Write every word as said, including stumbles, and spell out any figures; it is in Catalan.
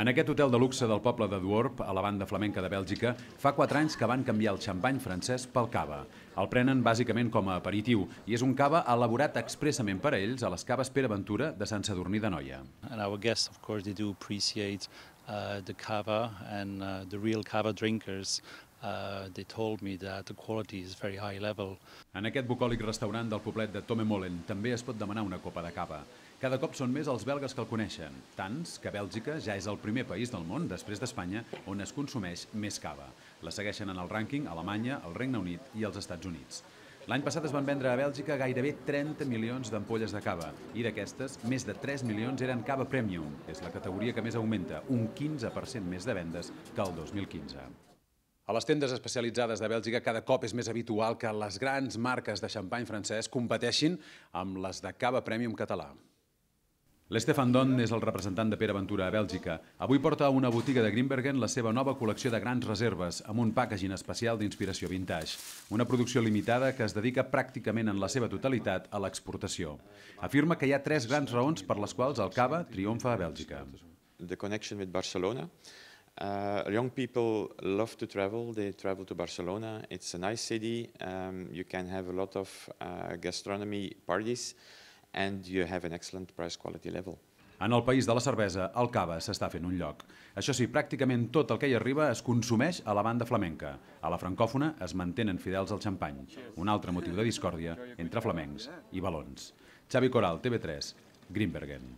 En aquest hotel de luxe del poble de Dworp, a la banda flamenca de Bèlgica, fa quatre anys que van canviar el xampany francès pel cava. El prenen bàsicament com a aperitiu i és un cava elaborat expressament per a ells a les caves Pere Ventura de Sant Sadurní d'Anoia. And our guests, of course, they do appreciate uh, the cava and uh, the real cava drinkers. Uh, they told me that the quality is very high level. En aquest bucòlic restaurant del poblet de Tomemolen també es pot demanar una copa de cava. Cada cop són més els belgues que el coneixen, tants que Bèlgica ja és el primer país del món, després d'Espanya, on es consumeix més cava. La segueixen en el rànquing Alemanya, el Regne Unit i els Estats Units. L'any passat es van vendre a Bèlgica gairebé trenta milions d'ampolles de cava i d'aquestes, més de tres milions eren cava premium. És la categoria que més augmenta, un quinze per cent més de vendes que el dos mil quinze. A les tendes especialitzades de Bèlgica cada cop és més habitual que les grans marques de xampany francès competeixin amb les de cava premium català. L'Stefan Don és el representant de Pere Ventura a Bèlgica. Avui porta a una botiga de Grimbergen la seva nova col·lecció de grans reserves amb un packaging especial d'inspiració vintage. Una producció limitada que es dedica pràcticament en la seva totalitat a l'exportació. Afirma que hi ha tres grans raons per les quals el cava triomfa a Bèlgica. The connection with Barcelona. Uh, young people love to travel. They travel to Barcelona. It's a nice city. Um, you can have a lot of uh, gastronomy parties. And you have an excellent price-quality level. En el país de la cervesa, el cava s'està fent un lloc. Això sí, pràcticament tot el que hi arriba es consumeix a la banda flamenca. A la francòfona es mantenen fidels al xampany. Un altre motiu de discòrdia entre flamencs i valons. Xavi Coral, T V tres, Grimbergen.